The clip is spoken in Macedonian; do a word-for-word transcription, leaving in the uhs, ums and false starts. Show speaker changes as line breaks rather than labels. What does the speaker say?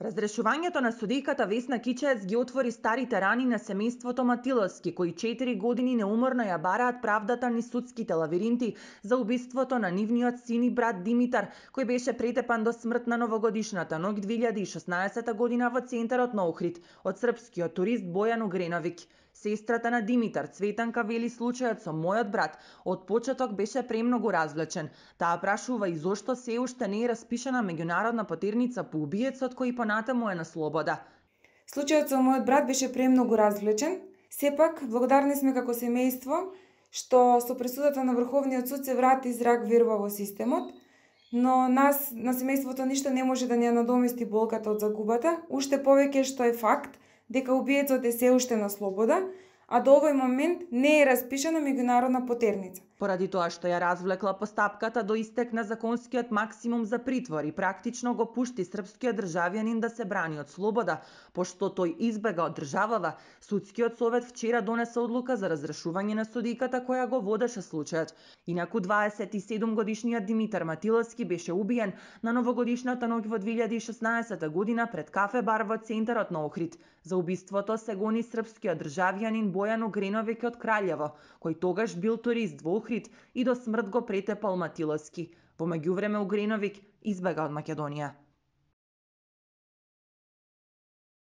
Разрешувањето на судијката Весна Кичаец ги отвори старите рани на семејството Матиловски, кои четири години неуморно ја бараат правдата низ судските лавиринти за убиството на нивниот син и брат Димитар, кој беше претепан до смрт на новогодишната ноќ две илјади и шеснаесета година во центарот на Охрид од српскиот турист Бојан Угреновиќ. Сестрата на Димитар, Цветанка, вели случајот со мојот брат од почеток беше премногу развлечен. Таа прашува и зошто се уште не е распишана меѓународна потерница по убиецот кој понатаму е на слобода.
Случајот со мојот брат беше премногу развлечен. Сепак, благодарни сме како семејство што со пресудата на Врховниот суд се врати зрак верба во системот, но нас на семејството ништо не може да ни ја надомести болката од загубата, уште повеќе што е факт дека убиецот е се уште на слобода, а до овој момент не е распишана меѓународна потерница.
Поради тоа што ја развлекла постапката до истек на законскиот максимум за притвор и практично го пушти српскиот државјанин да се брани од слобода, пошто тој избега од државава, судскиот совет вчера донесе одлука за разрешување на судијката која го водеше случајот. Инаку дваесет и седум годишниот Димитар Матиловски беше убиен на новогодишната ноќ во две илјади и шеснаесета година пред кафе бар во центарот на Охрид. За убиството се гони српскиот државјанин Бојан Угреновиќ од Краљево, кој тогаш бил турист во Охрид и до смрт го претепал Матиловски. Во меѓувреме Угреновиќ избега од Македонија.